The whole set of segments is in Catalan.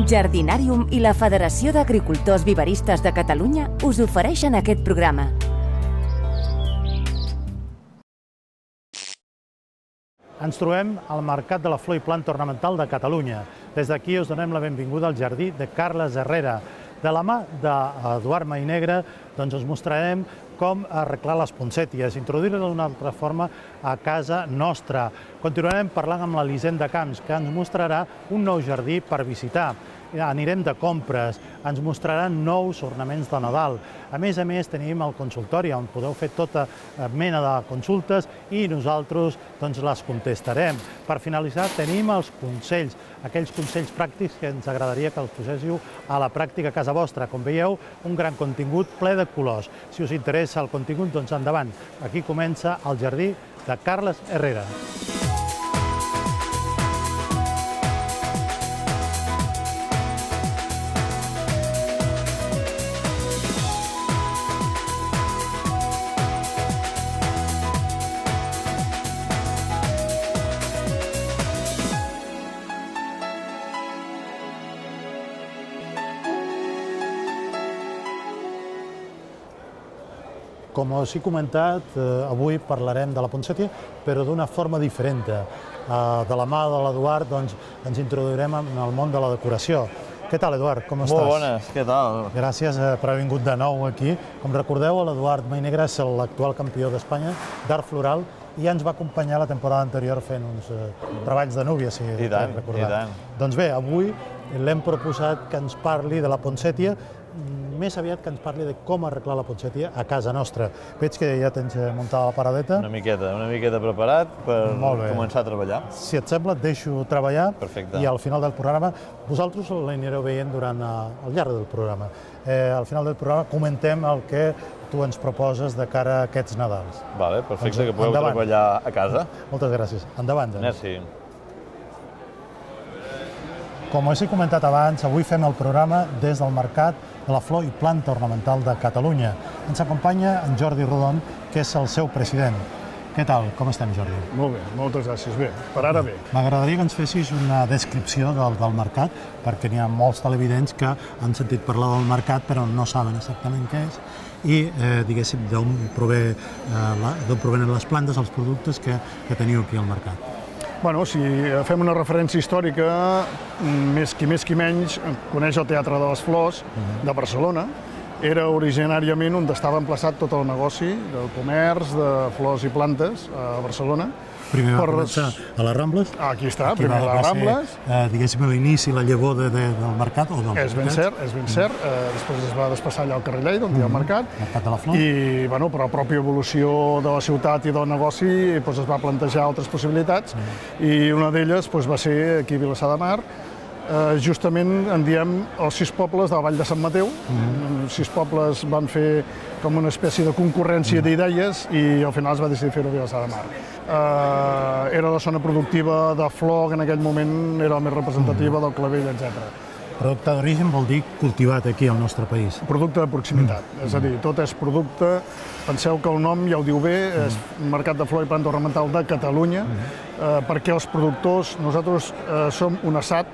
Jardinàrium i la Federació d'Agricultors Viveristes de Catalunya us ofereixen aquest programa. Ens trobem al Mercat de la Flor i Planta Ornamental de Catalunya. Des d'aquí us donem la benvinguda al jardí de Carles Herrera. De la mà d'Eduard Mainegre us mostrarem com arreglar les poncèties, introduir-les d'una altra forma a casa nostra. Continuarem parlant amb l'Elisenda Camps, que ens mostrarà un nou jardí per visitar. Anirem de compres, ens mostraran nous ornaments de Nadal. A més, tenim el consultori on podeu fer tota mena de consultes i nosaltres les contestarem. Per finalitzar, tenim els consells, aquells consells pràctics que ens agradaria que els poséssiu a la pràctica a casa vostra. Com veieu, un gran contingut ple de colors. Si us interessa el contingut, doncs endavant. Aquí comença el jardí de Carles Herrera. Com us he comentat, avui parlarem de la poncètia, però d'una forma diferent. De la mà de l'Eduard ens introduirem en el món de la decoració. Què tal, Eduard? Com estàs? Molt bones, què tal? Gràcies per haver vingut de nou aquí. Com recordeu, l'Eduard Mainegre és l'actual campió d'Espanya d'art floral i ja ens va acompanyar la temporada anterior fent uns treballs de núvia, si recordeu. I tant. Doncs bé, avui l'hem proposat que ens parli de la poncètia, més aviat que ens parli de com arreglar la poncètia a casa nostra. Veig que ja tens muntada la paradeta. Una miqueta preparat per començar a treballar. Si et sembla, et deixo treballar. Perfecte. I al final del programa, vosaltres l'anireu veient durant el llarg del programa. Al final del programa comentem el que tu ens proposes de cara a aquests Nadals. Vale, perfecte, que podeu treballar a casa. Moltes gràcies. Endavant. Merci. Com us he comentat abans, avui fem el programa des del Mercat de la Flor i Planta Ornamental de Catalunya. Ens acompanya en Jordi Rodon, que és el seu president. Què tal? Com estem, Jordi? Molt bé, moltes gràcies. Bé, per ara bé. M'agradaria que ens fessis una descripció del mercat, perquè n'hi ha molts televidents que han sentit parlar del mercat però no saben exactament què és i, diguéssim, d'on provenen les plantes, els productes que teniu aquí al mercat. Bueno, si fem una referència històrica, qui més qui menys coneix el Teatre de les Flors de Barcelona. Era originàriament on estava emplaçat tot el negoci del comerç de flors i plantes a Barcelona. Primer va començar a les Rambles. Aquí està, primer a les Rambles. Diguéssim, l'inici, la llavor del mercat o del És ben cert. Després es va desplaçar allà al carrer Lleida, on hi ha el mercat. Mercat de la Flor. I, per la pròpia evolució de la ciutat i del negoci, es va plantejar altres possibilitats i una d'elles va ser aquí a Vilassar de Mar. Justament en diem els 6 pobles de la Vall de Sant Mateu. 6 pobles van fer com una espècie de concurrència d'idees i al final es va decidir fer-ho a Vilassar de Mar. Era la zona productiva de flor, que en aquell moment era la més representativa del clavell, etc. Producte d'origen vol dir cultivat aquí al nostre país. Producte de proximitat, és a dir, tot és producte. Penseu que el nom ja ho diu bé, és Mercat de Flor i Planta Ornamental de Catalunya, perquè els productors, nosaltres som un assat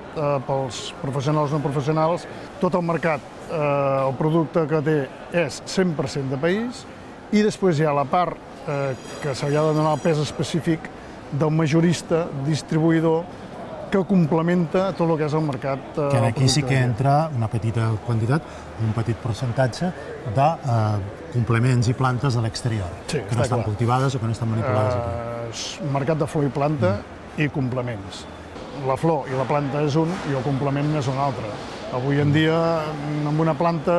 pels professionals no professionals. Tot el mercat, el producte que té és 100% de país i després hi ha la part que se li ha de donar el pes específic del majorista, distribuïdor, que complementa tot el que és el mercat. Que aquí sí que entra una petita quantitat, un petit percentatge de complements i plantes de l'exterior, que no estan cultivades o que no estan manipulades aquí. Mercat de flor i planta i complements. La flor i la planta és un i el complement és un altre. Avui en dia, amb una planta,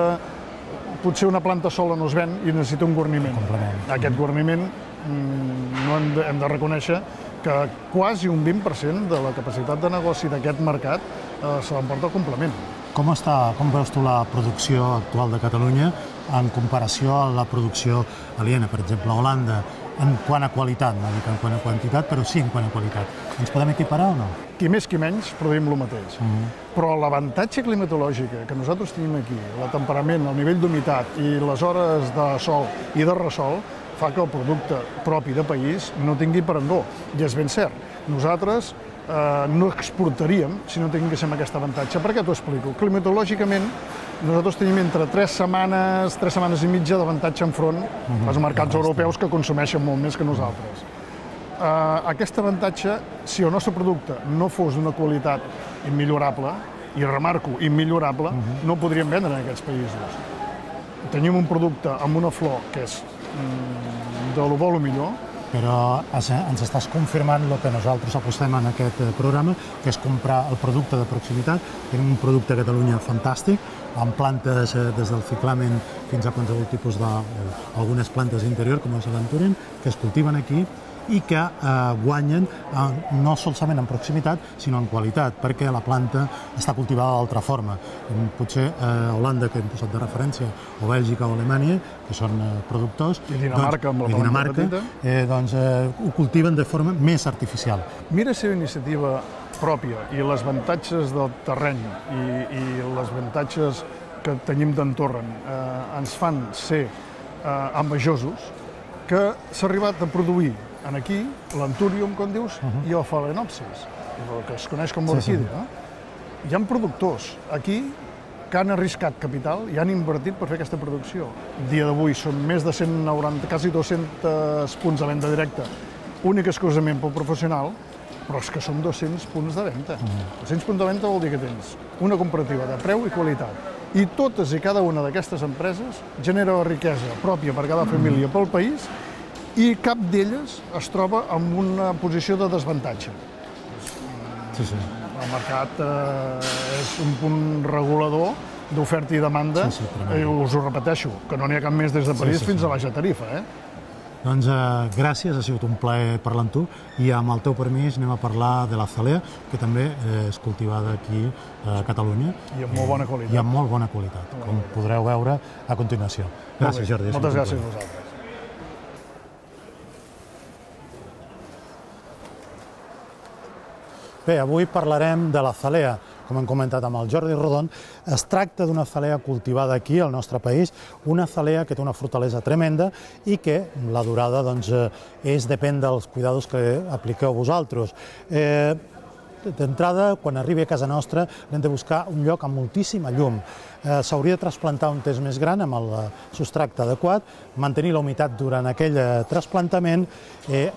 potser una planta sola no es ven i necessita un guarniment. Aquest guarniment no hem de reconèixer que quasi un 20% de la capacitat de negoci d'aquest mercat se l'emporta el complement. Com veus tu la producció actual de Catalunya en comparació a la producció aliena, per exemple, a Holanda, en quant a qualitat, no dic en quant a quantitat, però sí en quant a qualitat. Ens podem equiparar o no? Qui més qui menys produïm el mateix. Però l'avantatge climatològic que nosaltres tenim aquí, el temperament, el nivell d'humitat i les hores de sol i de ressol, fa que el producte propi de país no tingui parangó. I és ben cert. Nosaltres no exportaríem si no tinguéssim aquest avantatge. Per què t'ho explico? Climatològicament, nosaltres tenim entre 3 setmanes i mitja d'avantatge enfront als mercats europeus que consumeixen molt més que nosaltres. Aquest avantatge, si el nostre producte no fos d'una qualitat immillorable, i remarco, immillorable, no el podríem vendre en aquests països. Tenim un producte amb una flor que és de lo bo lo millor. Però ens estàs confirmant el que nosaltres apostem en aquest programa, que és comprar el producte de proximitat. Tenim un producte a Catalunya fantàstic, amb plantes des del ciclamen fins a qualsevol tipus d'algunes plantes d'interior, com és l'Aventuren, que es cultiven aquí i que guanyen no solament en proximitat, sinó en qualitat, perquè la planta està cultivada d'altra forma. Potser Holanda, que hem posat de referència, o Bèlgica o Alemanya, que són productors, i Dinamarca, amb la planta petita, doncs ho cultiven de forma més artificial. Mira si iniciativa pròpia i les avantatges del terreny i les avantatges que tenim d'entorn ens fan ser envejosos, que s'ha arribat a produir aquí l'Anturium, com dius, i el Phalaenopsis, el que es coneix com orquídea. Hi ha productors aquí que han arriscat capital i han invertit per fer aquesta producció. El dia d'avui són més de 190, quasi 200 punts de venda directa, únic exclusivament pel professional, però és que són 200 punts de venda. 200 punts de venda vol dir que tens una comparativa de preu i qualitat. I totes i cada una d'aquestes empreses genera la riquesa pròpia per cada família pel país i cap d'elles es troba en una posició de desavantatge. El mercat és un punt regulador d'oferta i demanda, us ho repeteixo, que no n'hi ha cap més des de París fins a Baixa Tarifa. Doncs gràcies, ha sigut un plaer parlar amb tu i amb el teu permís anem a parlar de l'azalea, que també és cultivada aquí a Catalunya. I amb molt bona qualitat. I amb molt bona qualitat, com podreu veure a continuació. Gràcies, Jordi. Moltes gràcies a vosaltres. Bé, avui parlarem de l'azalea. Com hem comentat amb el Jordi Rodon, es tracta d'una azalea cultivada aquí, al nostre país, una azalea que té una fortalesa tremenda i que la durada depèn dels cuidados que apliqueu vosaltres. D'entrada, quan arribi a casa nostra, hem de buscar un lloc amb moltíssima llum. S'hauria de trasplantar un temps més gran amb el substracte adequat, mantenir la humitat durant aquell trasplantament,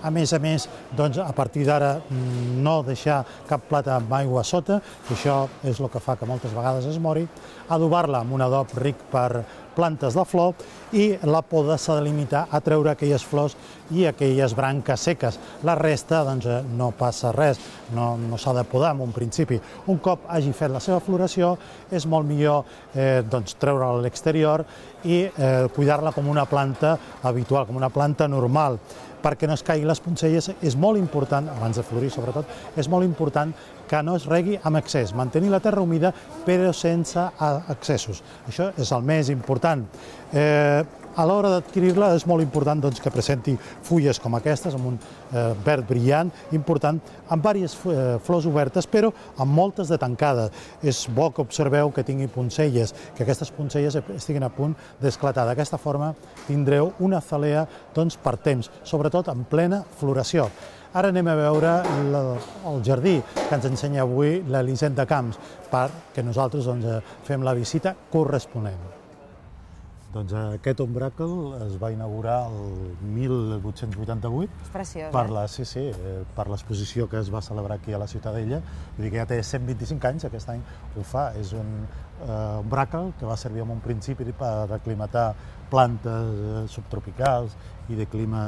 a més, a partir d'ara no deixar cap plata amb aigua a sota, que això és el que fa que moltes vegades es mori, adobar-la amb un adob ric per plantes de flor i la poda s'ha de limitar a treure aquelles flors i aquelles branques seques. La resta no passa res, no s'ha de podar en un principi. Un cop hagi fet la seva floració és molt millor treure-la a l'exterior i cuidar-la com una planta habitual, com una planta normal, perquè no es caiguin les poncelles. És molt important, abans de florir sobretot, és molt important que no es regui amb excés, mantenir la terra humida però sense excessos. Això és el més important. A l'hora d'adquirir-la és molt important que presenti fulles com aquestes, amb un verd brillant, important, amb diverses flors obertes, però amb moltes de tancades. És bo que observeu que tingui poncelles, que aquestes poncelles estiguin a punt d'esclatar. D'aquesta forma tindreu una azalea per temps, sobretot en plena floració. Ara anem a veure el jardí que ens ensenya avui l'Elisenda Camps, perquè nosaltres fem la visita corresponent. Aquest ombràquel es va inaugurar el 1888 per l'exposició que es va celebrar aquí a la Ciutadella. Vull dir que ja té 125 anys, aquest any ho fa. És un ombràquel que va servir en un principi per aclimatar plantes subtropicals i de clima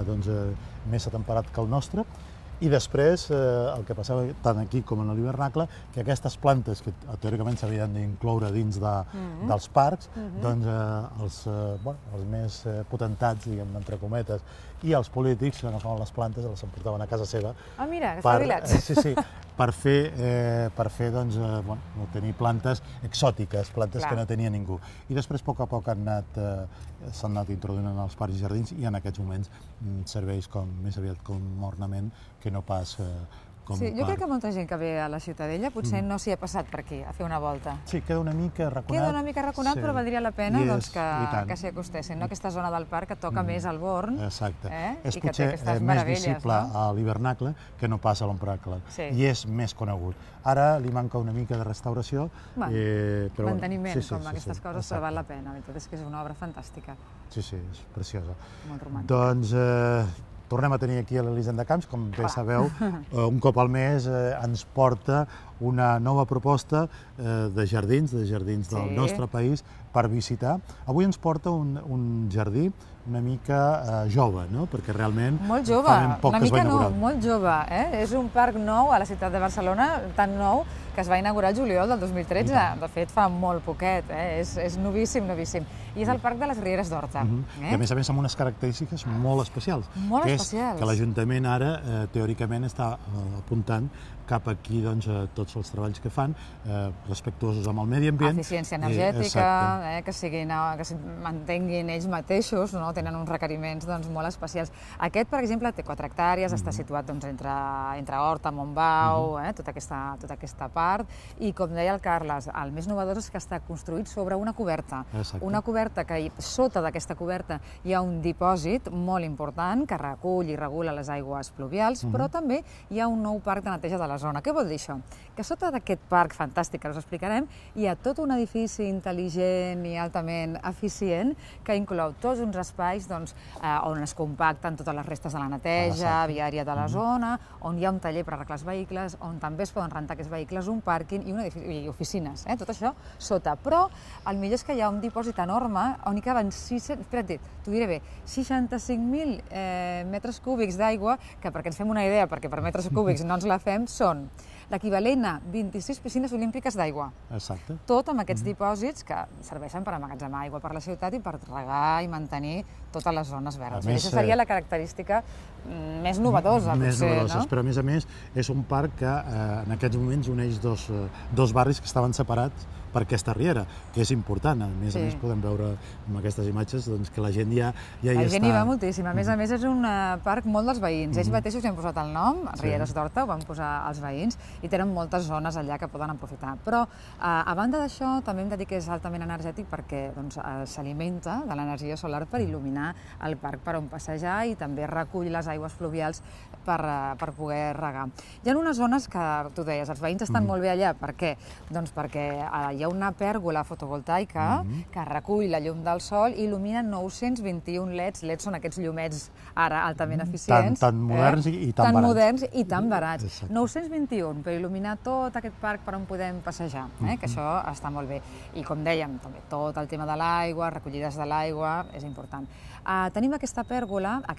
més atemperat que el nostre. I després, el que passava tant aquí com en l'hivernacle, que aquestes plantes, que teòricament s'havien d'incloure dins dels parcs, els més potentats, diguem, entre cometes, i els polítics agafaven les plantes i les emportaven a casa seva. Ah, mira, que espavilats. Sí, per tenir plantes exòtiques, plantes que no tenia ningú. I després, a poc a poc, s'han anat introduint en els parcs i jardins i en aquests moments serveix més aviat com ornament que no pas parc. Jo crec que molta gent que ve a la Ciutadella potser no s'hi ha passat per aquí, a fer una volta. Sí, queda una mica arraconat. Queda una mica arraconat, però valdria la pena que s'hi acostessin. Aquesta zona del parc que toca més al Born. Exacte. És potser més visible a l'hivernacle que no pas a l'ombracle. I és més conegut. Ara li manca una mica de restauració. Manteniment, com aquestes coses, però val la pena. La veritat és que és una obra fantàstica. Sí, és preciosa. Molt romàntica. Doncs tornem a tenir aquí a l'Elisenda Camps, com bé sabeu, un cop al mes ens porta una nova proposta de jardins del nostre país per visitar. Avui ens porta un jardí una mica jove, no? Perquè realment molt jove, una mica no, molt jove. És un parc nou a la ciutat de Barcelona, tan nou que es va inaugurar el juliol del 2013. De fet, fa molt poquet, és novíssim, novíssim. I és el Parc de les Rieres d'Horta. I a més amb unes característiques molt especials. Molt especials. Que l'Ajuntament ara, teòricament, està apuntant cap aquí tots els treballs que fan, respectuosos amb el medi ambient. Eficiència energètica, que es mantenguin ells mateixos, tenen uns requeriments molt especials. Aquest, per exemple, té 4 hectàrees, està situat entre Horta, Montbau, tota aquesta part, i com deia el Carles, el més novedós és que està construït sobre una coberta. Una coberta que sota d'aquesta coberta hi ha un dipòsit molt important que recull i regula les aigües pluvials, però també hi ha un nou parc de neteja de la zona. Què vol dir això? Que sota d'aquest parc fantàstic, que us explicarem, hi ha tot un edifici intel·ligent i altament eficient que inclou tots uns espais on es compacten totes les restes de la neteja viària de la zona, on hi ha un taller per arreglar els vehicles, on també es poden rentar aquests vehicles, un pàrquing i oficines. Tot això sota. Però el millor és que hi ha un dipòsit enorme on hi caben 65.000 metres cúbics d'aigua, que perquè ens fem una idea, perquè per metres cúbics no ens la fem, són l'equivalent a 26 piscines olímpiques d'aigua. Exacte. Tot amb aquests dipòsits que serveixen per emmagatzemar aigua per la ciutat i per regar i mantenir totes les zones verdes. Aquesta seria la característica més novedosa, potser, però a més és un parc que en aquests moments uneix dos barris que estaven separats per aquesta riera, que és important. A més podem veure amb aquestes imatges que la gent ja hi està. La gent hi va moltíssim. A més, és un parc molt dels veïns. Ells mateixos hi han posat el nom, Rieres d'Horta, ho van posar els veïns, i tenen moltes zones allà que poden aprofitar. Però, a banda d'això, també hem de dir que és altament energètic perquè s'alimenta de l'energia solar per il·luminar el parc per on passejar i també recull les aigües fluvials per poder regar. Hi ha unes zones que, tu deies, els veïns estan molt bé allà. Per què? Doncs perquè hi ha una pèrgola fotovoltaica que recull la llum del sol i il·lumina 921 LEDs. LEDs són aquests llumets ara altament eficients. Tan moderns i tan barats. Tan moderns i tan barats. 921 per il·luminar tot aquest parc per on podem passejar, que això està molt bé. I com dèiem, també tot el tema de l'aigua, recollides de l'aigua, és important. Tenim aquesta pèrgola a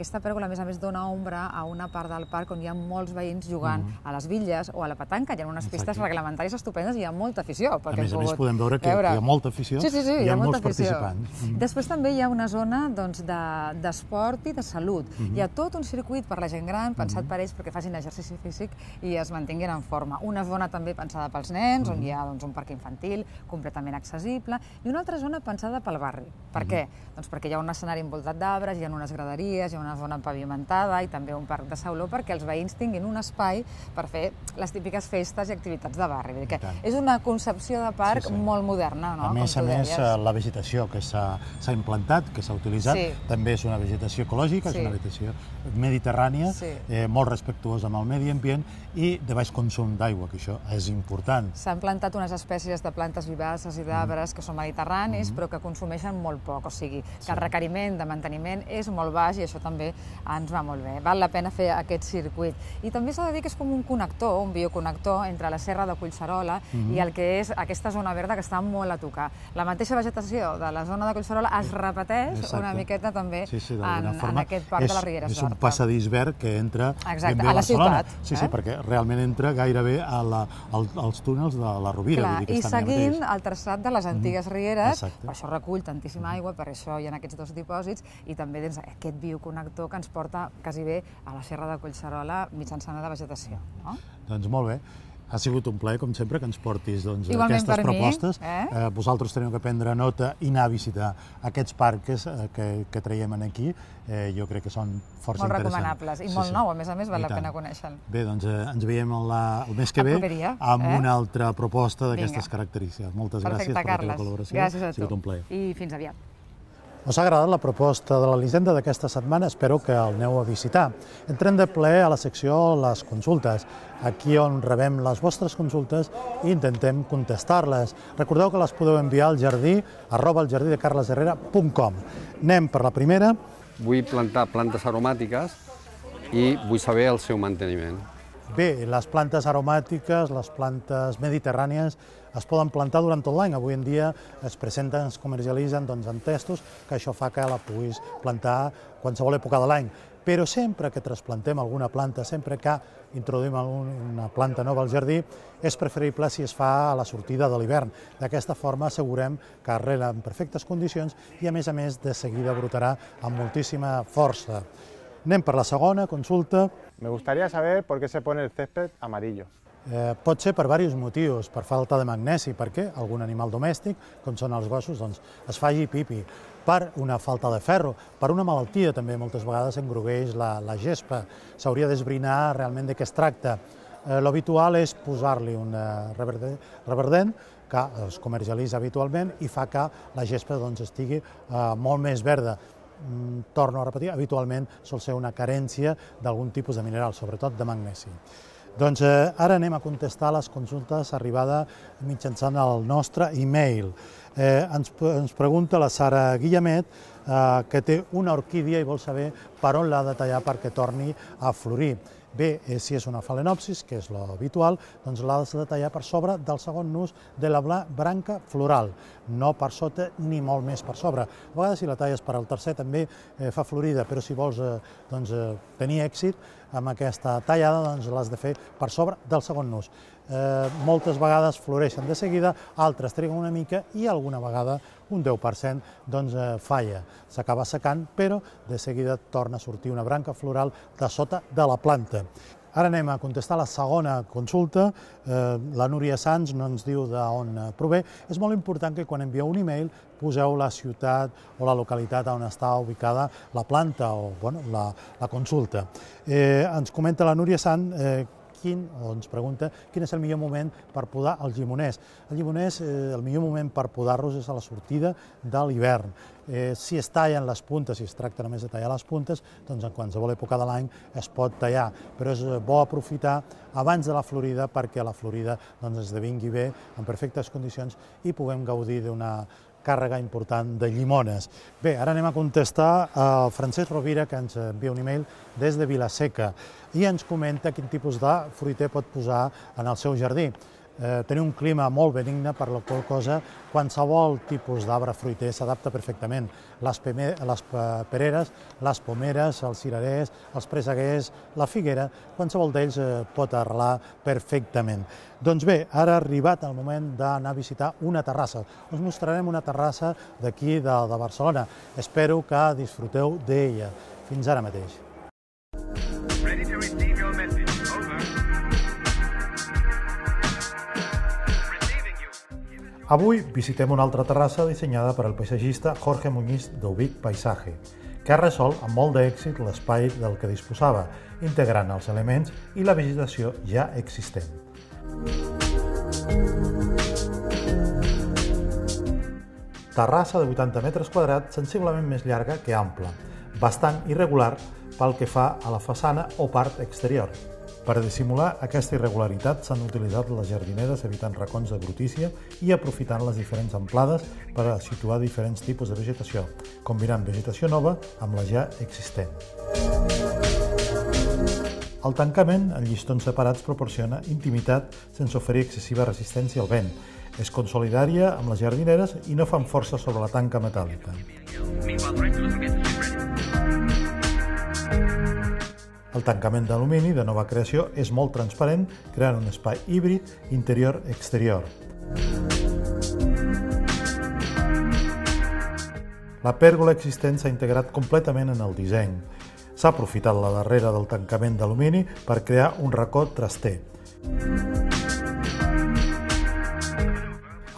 més a més dona ombra a una part del parc on hi ha molts veïns jugant a les bitlles o a la petanca. Hi ha unes pistes reglamentàries estupendes i hi ha molta afició. A més podem veure que hi ha molta afició i hi ha molts participants. Després també hi ha una zona d'esport i de salut. Hi ha tot un circuit per la gent gran, pensat per ells perquè facin exercici físic i es mantinguin en forma. Una zona també pensada pels nens, on hi ha un parc infantil completament accessible, i una altra zona pensada pel barri. Per què? Doncs perquè hi ha un escenari envoltat d'arbres, hi ha unes graderies, hi ha una zona pavimentada i també un parc de sauló perquè els veïns tinguin un espai per fer les típiques festes i activitats de barri. És una concepció de parc molt moderna. A més, la vegetació que s'ha implantat, que s'ha utilitzat, també és una vegetació ecològica, és una vegetació mediterrània, molt respectuosa amb el medi ambient i de baix consum d'aigua, que això és important. S'han plantat unes espècies de plantes vivaces i d'arbres que són mediterranis, però que consumeixen molt poc, o sigui, que el requeriment de manteniment és molt baix i això també ens va molt bé. Val la pena fer aquest circuit. I també s'ha de dir que és com un connector, un bioconnector entre la Serra de Collserola i el que és aquesta zona verda que està molt a tocar. La mateixa vegetació de la zona de Collserola es repeteix una miqueta també en aquest parc de les Rieres d'Horta. És un passadís verd que entra ben bé a Barcelona. Sí, perquè realment entra gairebé als túnels de la Rovira. I seguint el traçat de les antigues rieres, per això recull tantíssima aigua, per això hi ha aquests dos dipòsits, i també aquest bioconnector que ens porta quasi bé a la Serra de Collserola mitjançant la vegetació. Doncs molt bé. Ha sigut un plaer, com sempre, que ens portis Igualment aquestes propostes. per mi. Vosaltres teniu que prendre nota i anar a visitar aquests parcs que traiem aquí. Jo crec que són força Molt interessants. recomanables i molt nou, a més, val la pena conèixer-lo. Bé, doncs ens veiem el mes que ve amb una altra proposta d'aquestes característiques. Moltes gràcies per la teva col·laboració. Gràcies a tu. Ha sigut un plaer. I fins aviat. Us ha agradat la proposta de l'Elisenda d'aquesta setmana? Espero que el aneu a visitar. Entrem de ple a la secció Les Consultes, aquí on rebem les vostres consultes i intentem contestar-les. Recordeu que les podeu enviar al jardí @eljardidecarlesherrera.com. Anem per la primera. Vull plantar plantes aromàtiques i vull saber el seu manteniment. Bé, les plantes aromàtiques, les plantes mediterrànies, es poden plantar durant tot l'any. Avui en dia es presenten, es comercialitzen en testos, que això fa que la puguis plantar qualsevol època de l'any. Però sempre que trasplantem alguna planta, sempre que introduïm una planta nova al jardí, és preferible si es fa a la sortida de l'hivern. D'aquesta forma assegurem que arrela en perfectes condicions i, a més, de seguida brotarà amb moltíssima força. Anem per la segona consulta. Me gustaría saber por qué se pone el césped amarillo. Pot ser per diversos motius, per falta de magnesi, perquè algun animal domèstic, com són els gossos, es faci pipi, per una falta de ferro, per una malaltia també moltes vegades engrogueix la gespa. S'hauria d'esbrinar realment de què es tracta. L'habitual és posar-li un reverdent que es comercialitza habitualment i fa que la gespa estigui molt més verda. Torno a repetir, habitualment sol ser una carència d'algun tipus de mineral, sobretot de magnesi. Doncs ara anem a contestar les consultes arribades mitjançant el nostre e-mail. Ens pregunta la Sara Guillemet que té una orquídia i vol saber per on l'ha de tallar perquè torni a florir. Bé, si és una phalaenopsis, que és l'habitual, doncs l'has de tallar per sobre del segon nus de la branca floral, no per sota ni molt més per sobre. A vegades si la talles per al tercer també fa florida, però si vols tenir èxit amb aquesta tallada, doncs l'has de fer per sobre del segon nus. Moltes vegades floreixen de seguida, altres triguen una mica i alguna vegada, un 10%, falla. S'acaba secant, però de seguida torna a sortir una branca floral de sota de la planta. Ara anem a contestar la segona consulta. La Núria Sans no ens diu d'on prové. És molt important que quan envieu un e-mail poseu la ciutat o la localitat on està ubicada la planta o la consulta. Ens comenta la Núria Sans ens pregunta quin és el millor moment per podar els llimoners. El llimoners, el millor moment per podar-los és a la sortida de l'hivern. Si es tallen les puntes, si es tracta només de tallar les puntes, doncs en qualsevol època de l'any es pot tallar, però és bo aprofitar abans de la florida perquè la florida esdevingui bé, en perfectes condicions, i puguem gaudir d'una càrrega important de llimones. Bé, ara anem a contestar a Francesc Rovira, que ens envia un e-mail des de Vilaseca i ens comenta quin tipus de fruiter pot posar en el seu jardí. Tenir un clima molt benigne, per la qual cosa qualsevol tipus d'arbre fruiter s'adapta perfectament. Les pereres, les pomeres, els cirerers, els presseguers, la figuera, qualsevol d'ells pot arrelar perfectament. Doncs bé, ara ha arribat el moment d'anar a visitar una terrassa. Us mostrarem una terrassa d'aquí de Barcelona. Espero que disfruteu d'ella. Fins ara mateix. Avui visitem una altra terrassa dissenyada per al paisatgista Jorge Muñiz d'Ubic Paisaje, que ha resolt amb molt d'èxit l'espai del que disposava, integrant els elements i la vegetació ja existent. Terrassa de 80 metres quadrats, sensiblement més llarga que ampla, bastant irregular pel que fa a la façana o part exterior. Per dissimular aquesta irregularitat s'han utilitzat les jardineres evitant racons de brutícia i aprofitant les diferents amplades per a situar diferents tipus de vegetació, combinant vegetació nova amb la ja existent. El tancament en llistons separats proporciona intimitat sense oferir excessiva resistència al vent. És consolidària amb les jardineres i no fan força sobre la tanca metàl·lica. El tancament d'alumini de nova creació és molt transparent, creant un espai híbrid interior-exterior. La pèrgola existent s'ha integrat completament en el disseny. S'ha aprofitat la darrera del tancament d'alumini per crear un racó traster.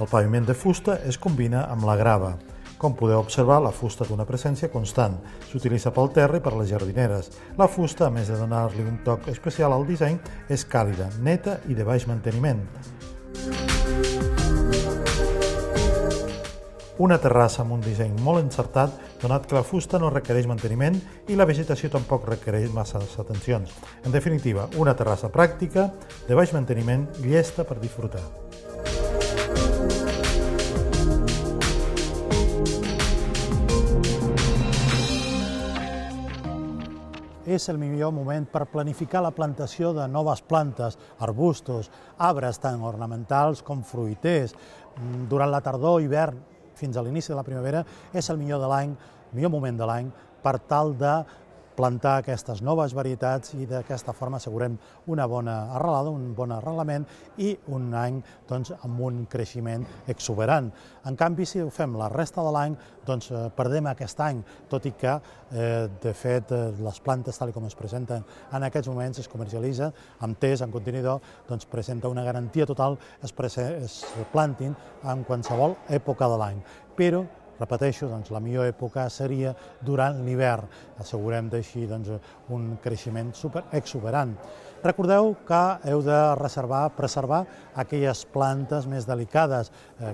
El paviment de fusta es combina amb la grava. Com podeu observar, la fusta té una presència constant. S'utilitza pel terra i per les jardineres. La fusta, a més de donar-li un toc especial al disseny, és càlida, neta i de baix manteniment. Una terrassa amb un disseny molt encertat, donat que la fusta no requereix manteniment i la vegetació tampoc requereix massa atencions. En definitiva, una terrassa pràctica, de baix manteniment, llesta per disfrutar. És el millor moment per planificar la plantació de noves plantes, arbustos, arbres tant ornamentals com fruiters. Durant la tardor, hivern, fins a l'inici de la primavera, és el millor moment de l'any per tal de plantar aquestes noves varietats i d'aquesta forma assegurem una bona arrelada, un bon arrelament i un any amb un creixement exuberant. En canvi, si ho fem la resta de l'any, perdem aquest any, tot i que, de fet, les plantes, tal com es presenten en aquests moments, es comercialitzen amb test, en contenidor, presenta una garantia total, es plantin en qualsevol època de l'any. Però repeteixo, la millor època seria durant l'hivern. Assegurem d'així un creixement exuberant. Recordeu que heu de preservar aquelles plantes més delicades,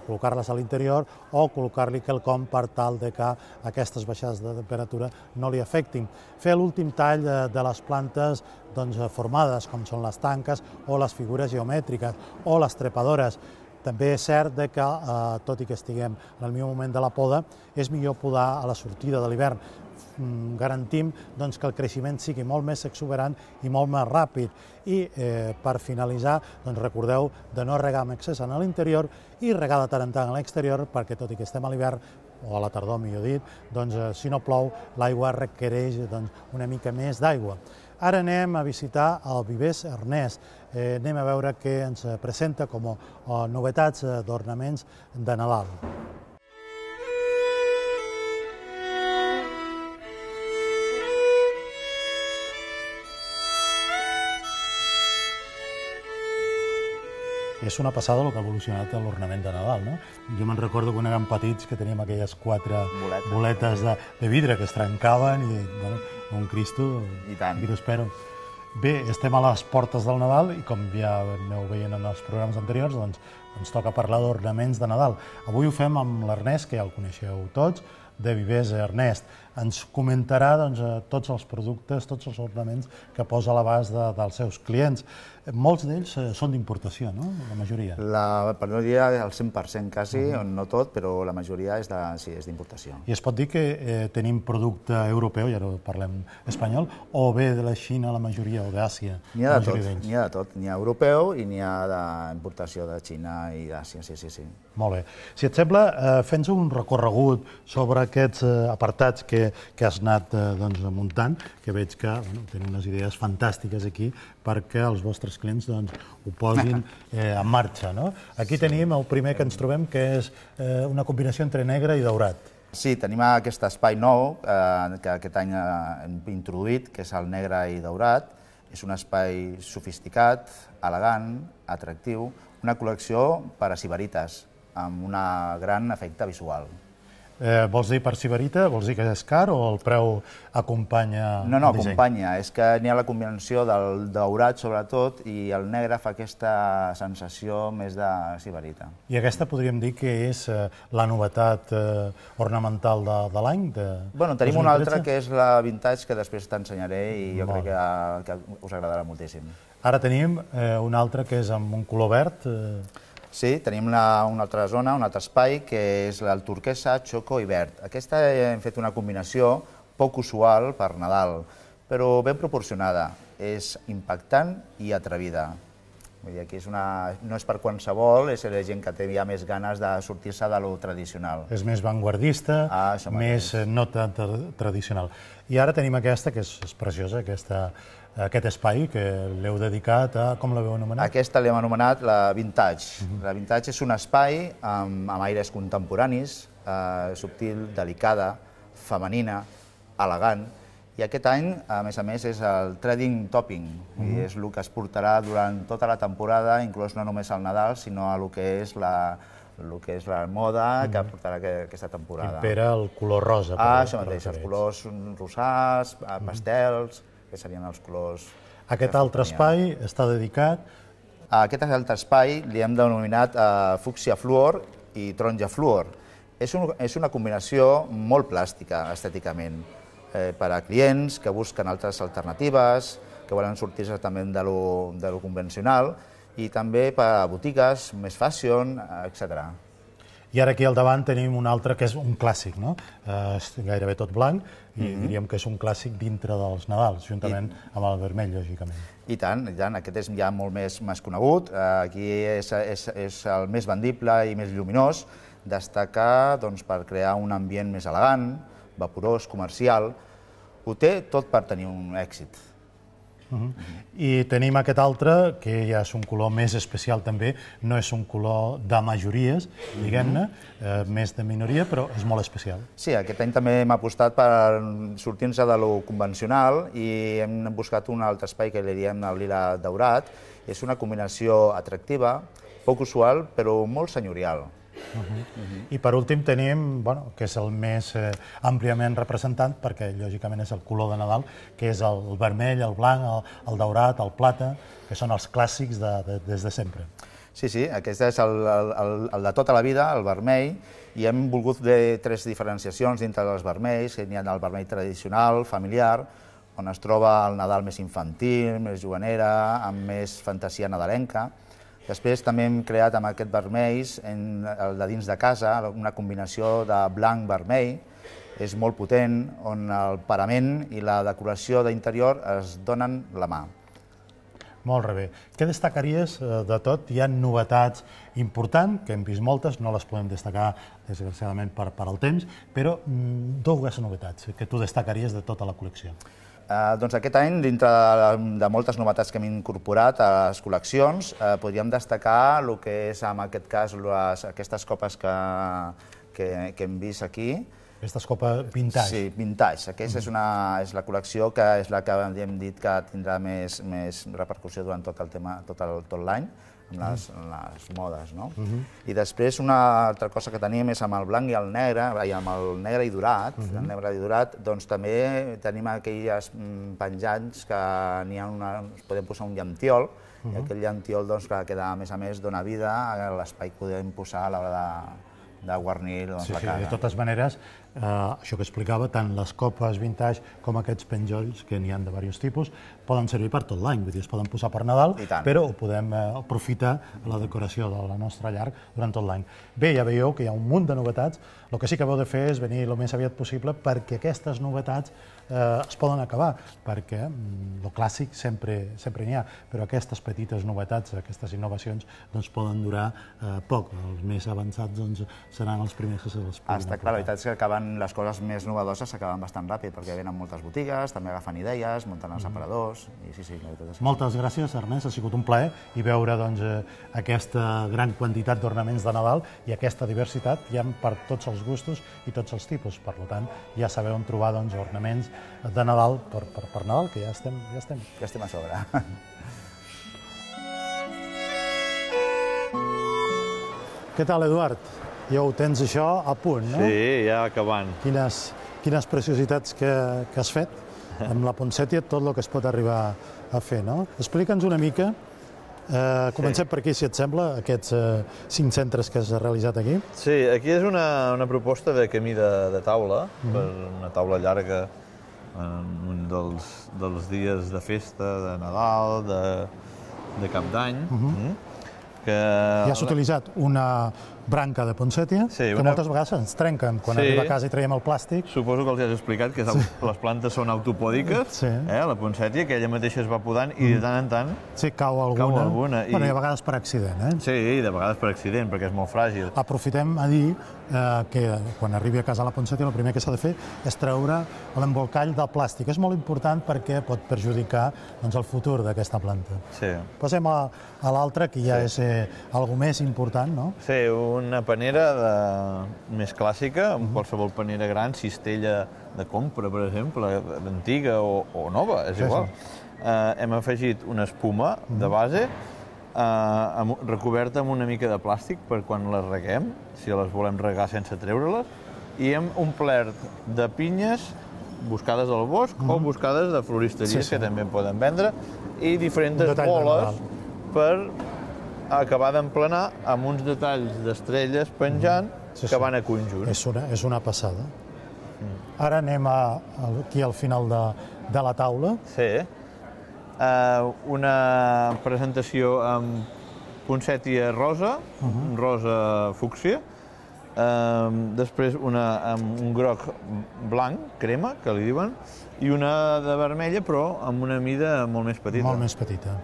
col·locar-les a l'interior o col·locar-li quelcom per tal que aquestes baixades de temperatura no li afectin. Fer l'últim tall de les plantes formades, com són les tanques o les figures geomètriques o les trepadores. També és cert que, tot i que estiguem en el millor moment de la poda, és millor podar a la sortida de l'hivern. Garantim que el creixement sigui molt més exuberant i molt més ràpid. I per finalitzar, recordeu de no regar amb excés en l'interior i regar de tant en tant a l'exterior, perquè tot i que estem a l'hivern, o a la tardor, millor dit, si no plou, l'aigua requereix una mica més d'aigua. Ara anem a visitar el Vivers Ernest. Anem a veure què ens presenta com a novetats d'ornaments de Nadal. És una passada el que ha evolucionat l'ornament de Nadal, no? Jo me'n recordo quan érem petits que teníem aquelles 4 boletes de vidre que es trencaven i, bueno, un Cristo, I tant. I t'espero. Bé, estem a les portes del Nadal i com ja aneu veient en els programes anteriors, ens toca parlar d'ornaments de Nadal. Avui ho fem amb l'Ernest, que ja el coneixeu tots, de Vivers Ernest. Ens comentarà tots els productes, tots els ornaments que posa a l'abast dels seus clients. Molts d'ells són d'importació, no? La majoria. Per no dir el 100% quasi, no tot, però la majoria és d'importació. I es pot dir que tenim producte europeu, ja no parlem espanyol, o bé de la Xina la majoria, o d'Àsia? N'hi ha de tot, n'hi ha europeu i n'hi ha d'importació de Xina i d'Àsia, sí. Molt bé. Si et sembla, fes un recorregut sobre aquests apartats que has anat muntant, que veig que teniu unes idees fantàstiques aquí perquè els vostres clients ho posin en marxa. Aquí tenim el primer que ens trobem, que és una combinació entre negre i daurat. Sí, tenim aquest espai nou que aquest any hem introduït, que és el negre i daurat. És un espai sofisticat, elegant, atractiu, una col·lecció per a sibarites, amb un gran efecte visual. Vols dir per sibarita? Vols dir que és car o el preu acompanya el disseny? No, acompanya. És que n'hi ha la combinació del daurat, sobretot, i el negre fa aquesta sensació més de sibarita. I aquesta podríem dir que és la novetat ornamental de l'any? Bueno, tenim una altra que és la vintage, que després t'ensenyaré i jo crec que us agradarà moltíssim. Ara tenim una altra que és amb un color verd. Sí, tenim una altra zona, un altre espai, que és el turquesa, xoco i verd. Aquesta hem fet una combinació poc usual per Nadal, però ben proporcionada. És impactant i atrevida. Vull dir, aquí no és per qualsevol, és la gent que té ja més ganes de sortir-se de lo tradicional. És més vanguardista, més no tan tradicional. I ara tenim aquesta, que és preciosa, aquest espai que l'heu dedicat a... Com l'heu anomenat? Aquesta l'hem anomenat la Vintage. La Vintage és un espai amb aires contemporanis, subtil, delicada, femenina, elegant, i aquest any, a més, és el Trading Topping, i és el que es portarà durant tota la temporada, inclús no només al Nadal, sinó a el que és el que és la moda que portarà aquesta temporada. Impera el color rosa. Això mateix, els colors rosats, pastels, que serien els colors... Aquest altre espai està dedicat... A aquest altre espai li hem denominat fúcsia fluor i taronja fluor. És una combinació molt plàstica, estèticament, per a clients que busquen altres alternatives, que volen sortir-se també de lo convencional, i també per a botigues, més fashion, etc. I ara aquí al davant tenim un altre que és un clàssic, no? És gairebé tot blanc i diríem que és un clàssic dintre dels Nadals, juntament amb el vermell, lògicament. I tant, aquest és ja molt més conegut. Aquí és el més vendible i més lluminós. Destaca per crear un ambient més elegant, vaporós, comercial. Ho té tot per tenir un èxit. I tenim aquest altre, que ja és un color més especial també, no és un color de majories, diguem-ne, més de minoria, però és molt especial. Sí, aquest any també hem apostat per sortir-nos de lo convencional i hem buscat un altre espai que li diem el lila daurat. És una combinació atractiva, poc usual, però molt senyorial. I per últim tenim, que és el més àmpliament representant, perquè lògicament és el color de Nadal, que és el vermell, el blanc, el daurat, el plata, que són els clàssics des de sempre. Sí, aquest és el de tota la vida, el vermell, i hem volgut fer 3 diferenciacions dintre dels vermells. Hi ha el vermell tradicional, familiar, on es troba el Nadal més infantil, més juganera, amb més fantasia nadalenca. Després també hem creat amb aquest vermells, el de dins de casa, una combinació de blanc-vermell, és molt potent, on el parament i la decoració d'interior es donen la mà. Molt bé. Què destacaries de tot? Hi ha novetats importants, que hem vist moltes, no les podem destacar, desgraciadament, per al temps, però 2 novetats que tu destacaries de tota la col·lecció. Doncs aquest any, dintre de moltes novetats que hem incorporat a les col·leccions, podríem destacar el que és, en aquest cas, aquestes copes que hem vist aquí. Aquestes copes vintage. Sí, vintage. Aquesta és la col·lecció que és la que hem dit que tindrà més repercussió durant tot l'any, amb les modes. I després una altra cosa que tenim és amb el blanc i el negre, amb el negre i dorat. El negre i dorat, doncs també tenim aquells penjants que podem posar un llampiol, i aquell llampiol que a més dona vida a l'espai que podem posar a l'hora de guarnir la casa. De totes maneres, això que explicava, tant les copes vintage com aquests penjolls, que n'hi ha de diversos tipus, poden servir per tot l'any, vull dir, es poden posar per Nadal, però ho podem aprofitar a la decoració de la nostra llar durant tot l'any. Bé, ja veieu que hi ha un munt de novetats, el que sí que heu de fer és venir el més aviat possible perquè aquestes novetats es poden acabar, perquè el clàssic sempre n'hi ha, però aquestes petites novetats, aquestes innovacions, poden durar poc. Els més avançats seran els primers que se les puguin aportar. Clar, la veritat és que les coses més novedoses s'acaben bastant ràpid, perquè venen moltes botigues, també agafen idees, munten els aparadors, i sí, la veritat és que... Moltes gràcies, Ernest, ha sigut un plaer i veure aquesta gran quantitat d'ornaments de Nadal i aquesta diversitat hi ha per tots els gustos i tots els tipus. Per tant, ja sabeu on trobar ornaments de Nadal per Nadal, que ja estem. Ja estem a sobre. Què tal, Eduard? Ja ho tens això a punt, no? Sí, ja acabant. Quines preciositats que has fet amb la poncètia, tot el que es pot arribar a fer, no? Explica'ns una mica, comencem per aquí, si et sembla, aquests 5 centres que has realitzat aquí. Sí, aquí és una proposta de camí de taula, per una taula llarga en un dels dies de festa, de Nadal, de Cap d'Any. Ja has utilitzat una branca de poncètia, que moltes vegades ens trenquen quan arriba a casa i traiem el plàstic. Suposo que els has explicat que les plantes són autopòdiques, la poncètia, que ella mateixa es va podant i de tant en tant cau alguna. I a vegades per accident. Sí, de vegades per accident, perquè és molt fràgil. Aprofitem a dir que quan arribi a casa la poncètia el primer que s'ha de fer és treure l'embolcall del plàstic. És molt important perquè pot perjudicar el futur d'aquesta planta. Passem a l'altra, que ja és alguna més important, no? Sí, una panera més clàssica, amb qualsevol panera gran, cistella de compra, per exemple, antiga o nova, és igual. Hem afegit una espuma de base recoberta amb una mica de plàstic per quan les reguem, si les volem regar sense treure-les, i hem omplert de pinyes buscades al bosc o buscades de floristeries que també poden vendre, i diferents boles per acabar d'emplenar amb uns detalls d'estrelles penjant que van a conjunt. És una passada. Ara anem aquí al final de la taula. Sí. Una presentació amb poncètia rosa, rosa fúcsia, després una amb un groc blanc, crema, que li diuen, i una de vermella, però amb una mida molt més petita. Molt més petita.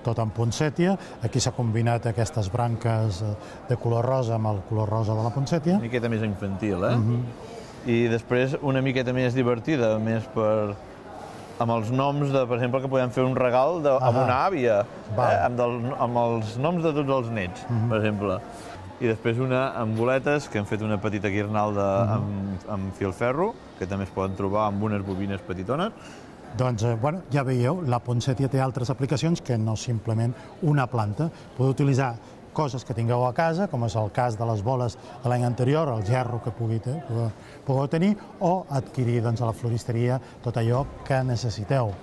Tot amb poncètia. Aquí s'ha combinat aquestes branques de color rosa amb el color rosa de la poncètia. Una miqueta més infantil, I després una miqueta més divertida, més amb els noms, per exemple, que podem fer un regal amb una àvia, amb els noms de tots els nets, per exemple. I després una amb boletes, que hem fet una petita guirnalda amb filferro, que també es poden trobar amb unes bobines petitones. Doncs, ja veieu, la poncètia té altres aplicacions que no simplement una planta. Podeu utilitzar coses que tingueu a casa, com és el cas de les boles de l'any anterior, el gerro que pugueu tenir, o adquirir a la floristeria tot allò que necessiteu.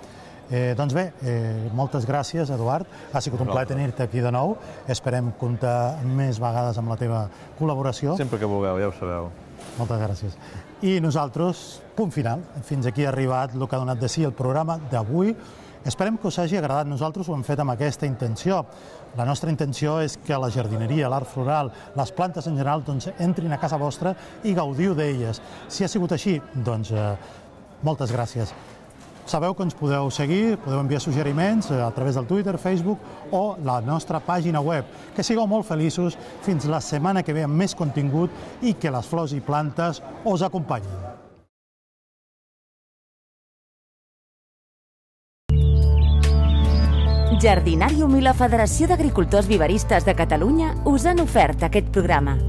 Doncs bé, moltes gràcies, Eduard. Ha sigut un plaer tenir-te aquí de nou. Esperem comptar més vegades amb la teva col·laboració. Sempre que vulgueu, ja ho sabeu. Moltes gràcies. I nosaltres, punt final. Fins aquí ha arribat el que ha donat de si el programa d'avui. Esperem que us hagi agradat. Nosaltres ho hem fet amb aquesta intenció. La nostra intenció és que la jardineria, l'art floral, les plantes en general, entrin a casa vostra i gaudiu d'elles. Si ha sigut així, doncs moltes gràcies. Sabeu que ens podeu seguir, podeu enviar suggeriments a través del Twitter, Facebook o la nostra pàgina web. Que sigueu molt feliços fins la setmana que ve amb més contingut i que les flors i plantes us acompanyin. Jardinàrium i la Federació d'Agricultors Viveristes de Catalunya us han ofert aquest programa.